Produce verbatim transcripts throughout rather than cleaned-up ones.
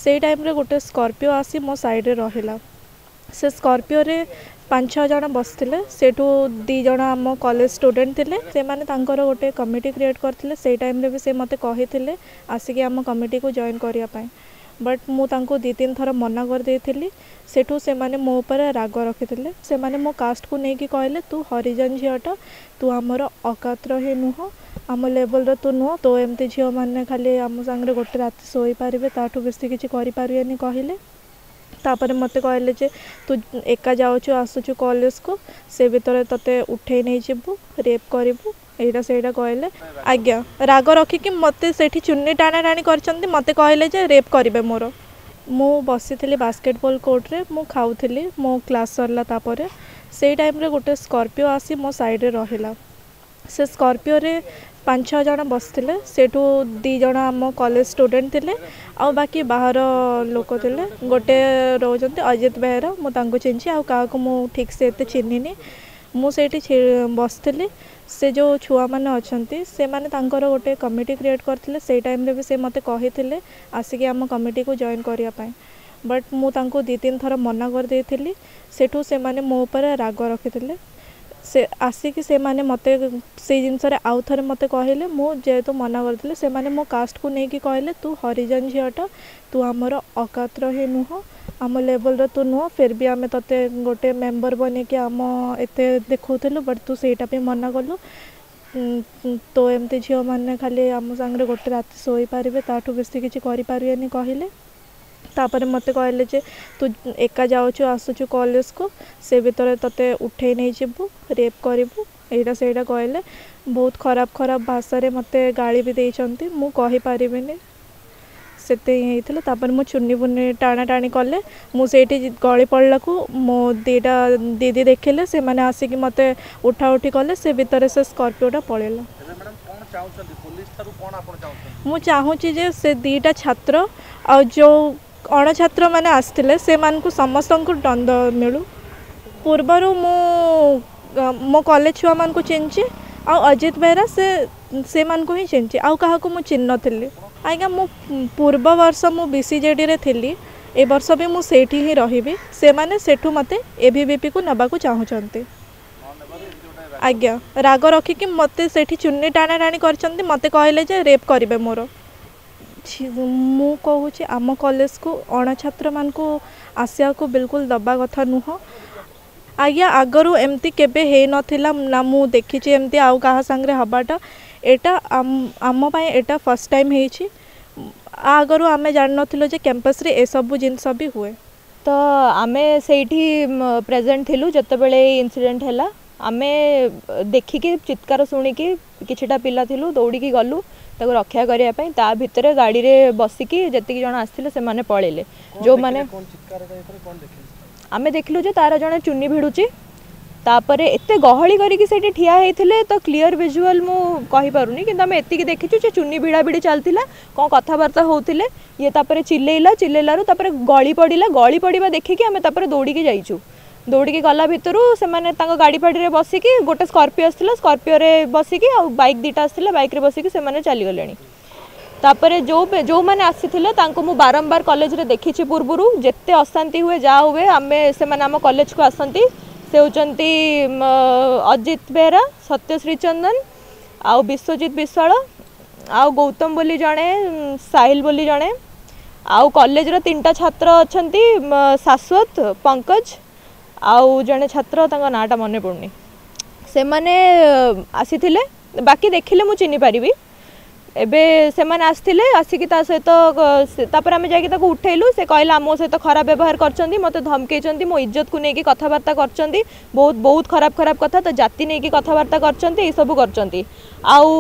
ସେଇ ଟାଇମ୍ରେ ଗୋଟେ ସ୍କର୍ପିଓ ଆସି ମୋ ସାଇଡ଼୍ରେ ରହିଲା। ସେ ସ୍କର୍ପିଓରେ ପାଞ୍ଚ ଛଅ ଜଣ ବସିଥିଲେ। ସେଇଠୁ ଦୁଇ ଜଣ ଆମ କଲେଜ ଷ୍ଟୁଡେଣ୍ଟ ଥିଲେ। ସେମାନେ ତାଙ୍କର ଗୋଟେ କମିଟି କ୍ରିଏଟ୍ କରିଥିଲେ। ସେଇ ଟାଇମ୍ରେ ବି ସେ ମୋତେ କହିଥିଲେ ଆସିକି ଆମ କମିଟିକୁ ଜଏନ୍ କରିବା ପାଇଁ, ବଟ୍ ମୁଁ ତାଙ୍କୁ ଦୁଇ ତିନି ଥର ମନା କରିଦେଇଥିଲି। ସେଠୁ ସେମାନେ ମୋ ଉପରେ ରାଗ ରଖିଥିଲେ। ସେମାନେ ମୋ କାଷ୍ଟକୁ ନେଇକି କହିଲେ, ତୁ ହରିଜନ ଝିଅଟା, ତୁ ଆମର ଅକାତର ହିଁ ନୁହଁ, ଆମ ଲେବଲ୍ର ତୁ ନୁହଁ, ତୋ ଏମିତି ଝିଅମାନେ ଖାଲି ଆମ ସାଙ୍ଗରେ ଗୋଟେ ରାତି ଶୋଇପାରିବେ, ତାଠୁ ବେଶୀ କିଛି କରିପାରିବେନି କହିଲେ। ତାପରେ ମୋତେ କହିଲେ ଯେ ତୁ ଏକା ଯାଉଛୁ ଆସୁଛୁ କଲେଜକୁ, ସେ ଭିତରେ ତୋତେ ଉଠେଇ ନେଇଯିବୁ, ରେପ୍ କରିବୁ, ଏଇଟା ସେଇଟା କହିଲେ। ଆଜ୍ଞା, ରାଗ ରଖିକି ମୋତେ ସେଇଠି ଚୁନି ଟାଣା ଟାଣି କରିଛନ୍ତି। ମୋତେ କହିଲେ ଯେ ରେପ୍ କରିବେ ମୋର। ମୁଁ ବସିଥିଲି ବାସ୍କେଟବଲ୍ କୋର୍ଟରେ, ମୁଁ ଖାଉଥିଲି, ମୋ କ୍ଲାସ୍ ସରିଲା। ତାପରେ ସେଇ ଟାଇମ୍ରେ ଗୋଟେ ସ୍କର୍ପିଓ ଆସି ମୋ ସାଇଡ଼୍ରେ ରହିଲା। ସେ ସ୍କର୍ପିଓରେ ପାଞ୍ଚ ଛଅ ଜଣ ବସିଥିଲେ। ସେଇଠୁ ଦୁଇ ଜଣ ଆମ କଲେଜ ଷ୍ଟୁଡେଣ୍ଟ ଥିଲେ ଆଉ ବାକି ବାହାର ଲୋକ ଥିଲେ। ଗୋଟେ ରହୁଛନ୍ତି ଅଜିତ ବେହେରା, ମୁଁ ତାଙ୍କୁ ଚିହ୍ନିଛି, ଆଉ କାହାକୁ ମୁଁ ଠିକ୍ସେ ଏତେ ଚିହ୍ନିନି। ମୁଁ ସେଇଠି ବସିଥିଲି। ସେ ଯେଉଁ ଛୁଆମାନେ ଅଛନ୍ତି, ସେମାନେ ତାଙ୍କର ଗୋଟେ କମିଟି କ୍ରିଏଟ୍ କରିଥିଲେ। ସେଇ ଟାଇମ୍ରେ ବି ସେ ମୋତେ କହିଥିଲେ ଆସିକି ଆମ କମିଟିକୁ ଜଏନ୍ କରିବା ପାଇଁ, ବଟ୍ ମୁଁ ତାଙ୍କୁ ଦୁଇ ତିନି ଥର ମନା କରିଦେଇଥିଲି। ସେଠୁ ସେମାନେ ମୋ ଉପରେ ରାଗ ରଖିଥିଲେ। ସେ ଆସିକି ସେମାନେ ମୋତେ ସେଇ ଜିନିଷରେ ଆଉ ଥରେ ମୋତେ କହିଲେ। ମୁଁ ଯେହେତୁ ମନା କରିଥିଲି, ସେମାନେ ମୋ କାଷ୍ଟକୁ ନେଇକି କହିଲେ, ତୁ ହରିଜନ ଝିଅଟା, ତୁ ଆମର ଅକାତର ହିଁ ନୁହଁ, ଆମ ଲେବଲ୍ର ତୁ ନୁହଁ, ଫିର୍ ବି ଆମେ ତୋତେ ଗୋଟେ ମେମ୍ବର ବନେଇକି ଆମ ଏତେ ଦେଖାଉଥିଲୁ, ବଟ୍ ତୁ ସେଇଟା ବି ମନା କଲୁ, ତୋ ଏମିତି ଝିଅମାନେ ଖାଲି ଆମ ସାଙ୍ଗରେ ଗୋଟେ ରାତି ଶୋଇପାରିବେ, ତାଠୁ ବେଶୀ କିଛି କରିପାରିବେନି କହିଲେ। ତାପରେ ମୋତେ କହିଲେ ଯେ ତୁ ଏକା ଯାଉଛୁ ଆସୁଛୁ କଲେଜକୁ, ସେ ଭିତରେ ତୋତେ ଉଠେଇ ନେଇଯିବୁ, ରେପ୍ କରିବୁ, ଏଇଟା ସେଇଟା କହିଲେ। ବହୁତ ଖରାପ ଖରାପ ଭାଷାରେ ମୋତେ ଗାଳି ବି ଦେଇଛନ୍ତି, ମୁଁ କହିପାରିବିନି। ସେତେ ହିଁ ହେଇଥିଲା। ତାପରେ ମୁଁ ଚୁନି ଫୁନି ଟାଣା ଟାଣି କଲେ, ମୁଁ ସେଇଠି ଗଳି ପଡ଼ିଲାକୁ ମୋ ଦୁଇଟା ଦିଦି ଦେଖିଲେ, ସେମାନେ ଆସିକି ମୋତେ ଉଠା ଉଠି କଲେ। ସେ ଭିତରେ ସେ ସ୍କର୍ପିଓଟା ପଳେଇଲା। ମୁଁ ଚାହୁଁଛି ଯେ ସେ ଦୁଇଟା ଛାତ୍ର ଆଉ ଯେଉଁ ଅଣଛାତ୍ରମାନେ ଆସିଥିଲେ, ସେମାନଙ୍କୁ ସମସ୍ତଙ୍କୁ ଦଣ୍ଡ ମିଳୁ। ପୂର୍ବରୁ ମୁଁ ମୋ କଲେଜ ଛୁଆମାନଙ୍କୁ ଚିହ୍ନିଛି ଆଉ ଅଜିତ ବେହେରା, ସେ ସେମାନଙ୍କୁ ହିଁ ଚିହ୍ନିଛି, ଆଉ କାହାକୁ ମୁଁ ଚିହ୍ନି ନଥିଲି। ଆଜ୍ଞା, ମୁଁ ପୂର୍ବ ବର୍ଷ ମୁଁ ବି ସି ଜେ ଡ଼ିରେ ଥିଲି, ଏ ବର୍ଷ ବି ମୁଁ ସେଇଠି ହିଁ ରହିବି। ସେମାନେ ସେଠୁ ମୋତେ ଏ ଭି ଭି ପିକୁ ନେବାକୁ ଚାହୁଁଛନ୍ତି। ଆଜ୍ଞା, ରାଗ ରଖିକି ମୋତେ ସେଇଠି ଚୁନି ଟାଣା ଟାଣି କରିଛନ୍ତି। ମୋତେ କହିଲେ ଯେ ରେପ୍ କରିବେ ମୋର। ମୁଁ କହୁଛି, ଆମ କଲେଜକୁ ଅଣଛାତ୍ରମାନଙ୍କୁ ଆସିବାକୁ ବିଲକୁଲ ଦେବା କଥା ନୁହଁ। ଆଜ୍ଞା, ଆଗରୁ ଏମିତି କେବେ ହେଇନଥିଲା ନା ମୁଁ ଦେଖିଛି ଏମିତି ଆଉ କାହା ସାଙ୍ଗରେ ହେବାଟା। ଏଇଟା ଆମ ପାଇଁ ଏଇଟା ଫାର୍ଷ୍ଟ ଟାଇମ୍ ହେଇଛି। ଆଗରୁ ଆମେ ଜାଣିନଥିଲୁ ଯେ କ୍ୟାମ୍ପସ୍ରେ ଏସବୁ ଜିନିଷ ବି ହୁଏ। ତ ଆମେ ସେଇଠି ପ୍ରେଜେଣ୍ଟ ଥିଲୁ ଯେତେବେଳେ ଏଇ ଇନସିଡେଣ୍ଟ ହେଲା। ଆମେ ଦେଖିକି, ଚିତ୍କାର ଶୁଣିକି କିଛିଟା ପିଲା ଥିଲୁ, ଦୌଡ଼ିକି ଗଲୁ ତାକୁ ରକ୍ଷା କରିବା ପାଇଁ। ତା ଭିତରେ ଗାଡ଼ିରେ ବସିକି ଯେତିକି ଜଣ ଆସିଥିଲେ ସେମାନେ ପଳେଇଲେ। ଯେଉଁମାନେ ଆମେ ଦେଖିଲୁ ଯେ ତାର ଜଣେ ଚୁନି ଭିଡ଼ୁଛି। ତାପରେ ଏତେ ଗହଳି କରିକି ସେଇଠି ଠିଆ ହେଇଥିଲେ, ତ କ୍ଲିଅର ଭିଜୁଆଲ ମୁଁ କହିପାରୁନି, କିନ୍ତୁ ଆମେ ଏତିକି ଦେଖିଛୁ ଯେ ଚୁନି ଭିଡ଼ା ଭିଡ଼ି ଚାଲିଥିଲା, କ'ଣ କଥାବାର୍ତ୍ତା ହେଉଥିଲେ। ଇଏ ତାପରେ ଚିଲେଇଲା, ଚିଲେଇଲାରୁ ତାପରେ ଗଳି ପଡ଼ିଲା। ଗଳି ପଡ଼ିବା ଦେଖିକି ଆମେ ତାପରେ ଦୌଡ଼ିକି ଯାଇଛୁ। ଦୌଡ଼ିକି ଗଲା ଭିତରୁ ସେମାନେ ତାଙ୍କ ଗାଡ଼ି ଫାଡ଼ିରେ ବସିକି, ଗୋଟେ ସ୍କର୍ପିଓ ଆସିଥିଲା, ସ୍କର୍ପିଓରେ ବସିକି ଆଉ ବାଇକ୍ ଦୁଇଟା ଆସିଥିଲା, ବାଇକ୍ରେ ବସିକି ସେମାନେ ଚାଲିଗଲେଣି। ତାପରେ ଯେଉଁ ଯେଉଁମାନେ ଆସିଥିଲେ ତାଙ୍କୁ ମୁଁ ବାରମ୍ବାର କଲେଜରେ ଦେଖିଛି ପୂର୍ବରୁ। ଯେତେ ଅଶାନ୍ତି ହୁଏ, ଯାହା ହୁଏ, ଆମେ ସେମାନେ ଆମ କଲେଜକୁ ଆସନ୍ତି। ସେ ହେଉଛନ୍ତି ଅଜିତ ବେହେରା, ସତ୍ୟଶ୍ରୀ ଚନ୍ଦନ ଆଉ ବିଶ୍ୱଜିତ ବିଶ୍ୱାଳ ଆଉ ଗୌତମ ବୋଲି ଜଣେ, ସାହିଲ ବୋଲି ଜଣେ, ଆଉ କଲେଜର ତିନିଟା ଛାତ୍ର ଅଛନ୍ତି, ଶାଶ୍ୱତ, ପଙ୍କଜ ଆଉ ଜଣେ ଛାତ୍ର, ତାଙ୍କ ନାଁଟା ମନେ ପଡ଼ୁନି। ସେମାନେ ଆସିଥିଲେ। ବାକି ଦେଖିଲେ ମୁଁ ଚିହ୍ନି ପାରିବି। ଏବେ ସେମାନେ ଆସିଥିଲେ, ଆସିକି ତା ସହିତ, ତାପରେ ଆମେ ଯାଇକି ତାକୁ ଉଠେଇଲୁ। ସେ କହିଲା ମୋ ସହିତ ଖରାପ ବ୍ୟବହାର କରିଛନ୍ତି, ମୋତେ ଧମକେଇଛନ୍ତି, ମୋ ଇଜ୍ଜତକୁ ନେଇକି କଥାବାର୍ତ୍ତା କରିଛନ୍ତି, ବହୁତ ବହୁତ ଖରାପ ଖରାପ କଥା, ତା ଜାତି ନେଇକି କଥାବାର୍ତ୍ତା କରିଛନ୍ତି, ଏଇସବୁ କରିଛନ୍ତି। ଆଉ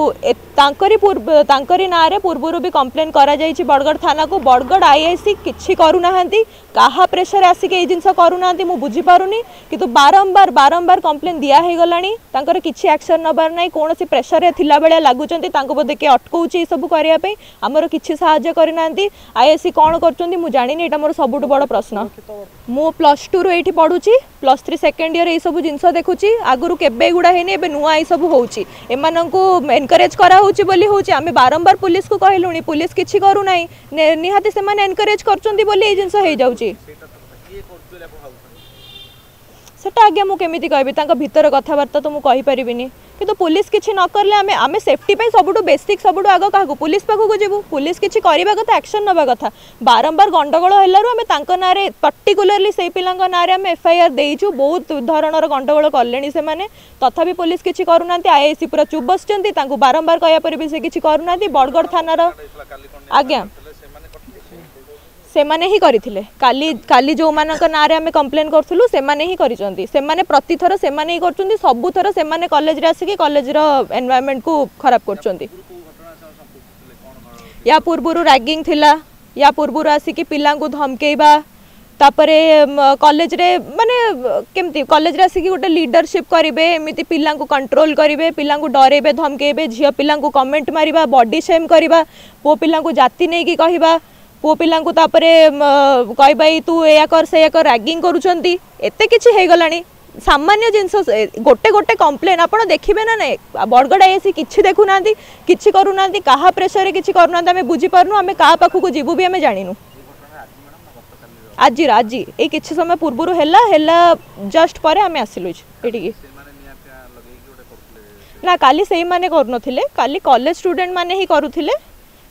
ତାଙ୍କରି ପୂର୍ବ ତାଙ୍କରି ନାଁରେ ପୂର୍ବରୁ ବି କମ୍ପ୍ଲେନ୍ କରାଯାଇଛି ବଡ଼ଗଡ଼ ଥାନାକୁ। ବଡ଼ଗଡ଼ I I C କିଛି କରୁନାହାନ୍ତି। କାହା ପ୍ରେସର ଆସିକି ଏଇ ଜିନିଷ କରୁନାହାନ୍ତି ମୁଁ ବୁଝିପାରୁନି, କିନ୍ତୁ ବାରମ୍ବାର ବାରମ୍ବାର କମ୍ପ୍ଲେନ୍ ଦିଆ ହେଇଗଲାଣି, ତାଙ୍କର କିଛି ଆକ୍ସନ୍ ନେବାର ନାହିଁ। କୌଣସି ପ୍ରେସରରେ ଥିଲା ଭଳିଆ ଲାଗୁଛନ୍ତି। ତାଙ୍କୁ ବୋଧେ କିଏ ଅଟକଉଛି ଏସବୁ କରିବା ପାଇଁ। ଆମର କିଛି ସାହାଯ୍ୟ କରିନାହାନ୍ତି। I I C କ'ଣ କରୁଛନ୍ତି ମୁଁ ଜାଣିନି। ଏଇଟା ମୋର ସବୁଠୁ ବଡ଼ ପ୍ରଶ୍ନ। ମୁଁ ପ୍ଲସ୍ ଟୁରୁ ଏଇଠି ପଢ଼ୁଛି। ପ୍ଲସ୍ ଥ୍ରୀ ସେକେଣ୍ଡ ଇୟର୍ ଏଇସବୁ ଜିନିଷ ଦେଖୁଛି। ଆଗରୁ କେବେ ଏଗୁଡ଼ା ହେଇନି, ଏବେ ନୂଆ ଏଇସବୁ ହେଉଛି। ଏମାନଙ୍କୁ ଏନକରେଜ୍ କରାହେଉଛି ବୋଲି ହେଉଛି। ଆମେ ବାରମ୍ବାର ପୁଲିସକୁ କହିଲୁଣି, ପୁଲିସ କିଛି କରୁନାହିଁ। ନିହାତି ସେମାନେ ଏନକରେଜ୍ କରୁଛନ୍ତି ବୋଲି ଏଇ ଜିନିଷ ହେଇଯାଉଛି। ସେଟା ଆଜ୍ଞା ମୁଁ କେମିତି କହିବି, ତାଙ୍କ ଭିତର କଥାବାର୍ତ୍ତା ତ ମୁଁ କହିପାରିବିନି। କିନ୍ତୁ ପୁଲିସ କିଛି ନ କଲେ ଆମେ ଆମେ ସେଫ୍ଟି ପାଇଁ ସବୁଠୁ ବେସିକ୍, ସବୁଠୁ ଆଗ କାହାକୁ? ପୁଲିସ ପାଖକୁ ଯିବୁ। ପୁଲିସ କିଛି କରିବା କଥା, ଆକ୍ସନ୍ ନେବା କଥା। ବାରମ୍ବାର ଗଣ୍ଡଗୋଳ ହେଲାରୁ ଆମେ ତାଙ୍କ ନାଁରେ, ପର୍ଟିକୁଲାରଲି ସେଇ ପିଲାଙ୍କ ନାଁରେ ଆମେ ଏଫଆଇଆର୍ ଦେଇଛୁ। ବହୁତ ଧରଣର ଗଣ୍ଡଗୋଳ କଲେଣି ସେମାନେ, ତଥାପି ପୁଲିସ କିଛି କରୁନାହାନ୍ତି। ଆଇଆଇସି ପୁରା ଚୁପ୍ ବସିଛନ୍ତି। ତାଙ୍କୁ ବାରମ୍ବାର କହିବା ପରେ ବି ସେ କିଛି କରୁନାହାନ୍ତି। ବଡ଼ଗଡ଼ ଥାନାର ଆଜ୍ଞା ସେମାନେ ହିଁ କରିଥିଲେ କାଲି। କାଲି ଯେଉଁମାନଙ୍କ ନାଁରେ ଆମେ କମ୍ପ୍ଲେନ୍ କରୁଥିଲୁ, ସେମାନେ ହିଁ କରିଛନ୍ତି। ସେମାନେ ପ୍ରତିଥର ସେମାନେ ହିଁ କରୁଛନ୍ତି। ସବୁଥର ସେମାନେ କଲେଜରେ ଆସିକି କଲେଜର ଏନଭାୟରମେଣ୍ଟକୁ ଖରାପ କରୁଛନ୍ତି। ୟା ପୂର୍ବରୁ ରାଗିଂ ଥିଲା, ୟା ପୂର୍ବରୁ ଆସିକି ପିଲାଙ୍କୁ ଧମକେଇବା, ତାପରେ କଲେଜରେ ମାନେ କେମିତି କଲେଜରେ ଆସିକି ଗୋଟେ ଲିଡରସିପ୍ କରିବେ, ଏମିତି ପିଲାଙ୍କୁ କଣ୍ଟ୍ରୋଲ କରିବେ, ପିଲାଙ୍କୁ ଡରେଇବେ, ଧମକେଇବେ, ଝିଅ ପିଲାଙ୍କୁ କମେଣ୍ଟ ମାରିବା, ବଡି ସେମ୍ କରିବା, ପୁଅ ପିଲାଙ୍କୁ ଜାତି ନେଇକି କହିବା, ପୁଅ ପିଲାଙ୍କୁ ତାପରେ କହିବା ଏଇ ତୁ ଏଇଆ କର ସେଇଆ କର, ରାଗିଂ କରୁଛନ୍ତି। ଏତେ କିଛି ହେଇଗଲାଣି। ସାମାନ୍ୟ ଜିନିଷ ଗୋଟେ ଗୋଟେ କମ୍ପ୍ଲେନ୍ ଆପଣ ଦେଖିବେ ନା ନାଇଁ? ବଡ଼ଗଡ଼ ଆଇଆଇସି କିଛି ଦେଖୁନାହାନ୍ତି, କିଛି କରୁନାହାନ୍ତି। କାହା ପ୍ରେସରରେ କିଛି କରୁନାହାନ୍ତି ଆମେ ବୁଝିପାରୁନୁ। ଆମେ କାହା ପାଖକୁ ଯିବୁ ବି ଆମେ ଜାଣିନୁ। ଆଜିର, ଆଜି ଏଇ କିଛି ସମୟ ପୂର୍ବରୁ ହେଲା। ହେଲା ଜଷ୍ଟ ପରେ ଆମେ ଆସିଲୁ ଏଠିକି। ନା, କାଲି ସେଇମାନେ କରୁନଥିଲେ, କାଲି କଲେଜ ଷ୍ଟୁଡେଣ୍ଟ ମାନେ ହିଁ କରୁଥିଲେ।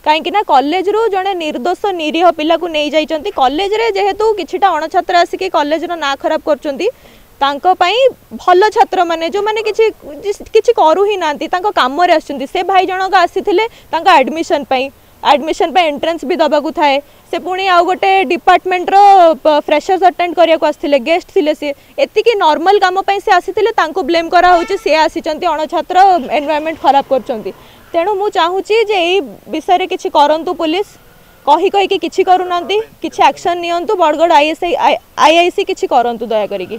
କାହିଁକି ନା କଲେଜରୁ ଜଣେ ନିର୍ଦ୍ଦୋଷ ନିରୀହ ପିଲାକୁ ନେଇଯାଇଛନ୍ତି। କଲେଜରେ ଯେହେତୁ କିଛିଟା ଅଣଛାତ୍ର ଆସିକି କଲେଜର ନାଁ ଖରାପ କରୁଛନ୍ତି, ତାଙ୍କ ପାଇଁ ଭଲ ଛାତ୍ରମାନେ ଯେଉଁମାନେ କିଛି କିଛି କରୁ ହିଁ ନାହାନ୍ତି, ତାଙ୍କ କାମରେ ଆସୁଛନ୍ତି। ସେ ଭାଇ ଜଣକ ଆସିଥିଲେ ତାଙ୍କ ଆଡ଼ମିସନ୍ ପାଇଁ। ଆଡ଼ମିସନ୍ ପାଇଁ ଏଣ୍ଟ୍ରାନ୍ସ ବି ଦେବାକୁ ଥାଏ। ସେ ପୁଣି ଆଉ ଗୋଟେ ଡିପାର୍ଟମେଣ୍ଟର ଫ୍ରେଶର୍ସ ଆଟେଣ୍ଡ କରିବାକୁ ଆସିଥିଲେ, ଗେଷ୍ଟ ଥିଲେ ସିଏ। ଏତିକି ନର୍ମାଲ କାମ ପାଇଁ ସେ ଆସିଥିଲେ, ତାଙ୍କୁ ବ୍ଲେମ୍ କରାହେଉଛି, ସେ ଆସିଛନ୍ତି ଅଣଛାତ୍ର, ଏନଭାୟରମେଣ୍ଟ ଖରାପ କରୁଛନ୍ତି। ତେଣୁ ମୁଁ ଚାହୁଁଛି ଯେ ଏଇ ବିଷୟରେ କିଛି କରନ୍ତୁ। ପୁଲିସ କହି କହିକି କିଛି କରୁନାହାନ୍ତି। କିଛି ଆକ୍ସନ୍ ନିଅନ୍ତୁ। ବଡ଼ଗଡ଼ ଆଇଏସ୍ଆଇ ଆଇଆଇସି କିଛି କରନ୍ତୁ ଦୟା କରିକି।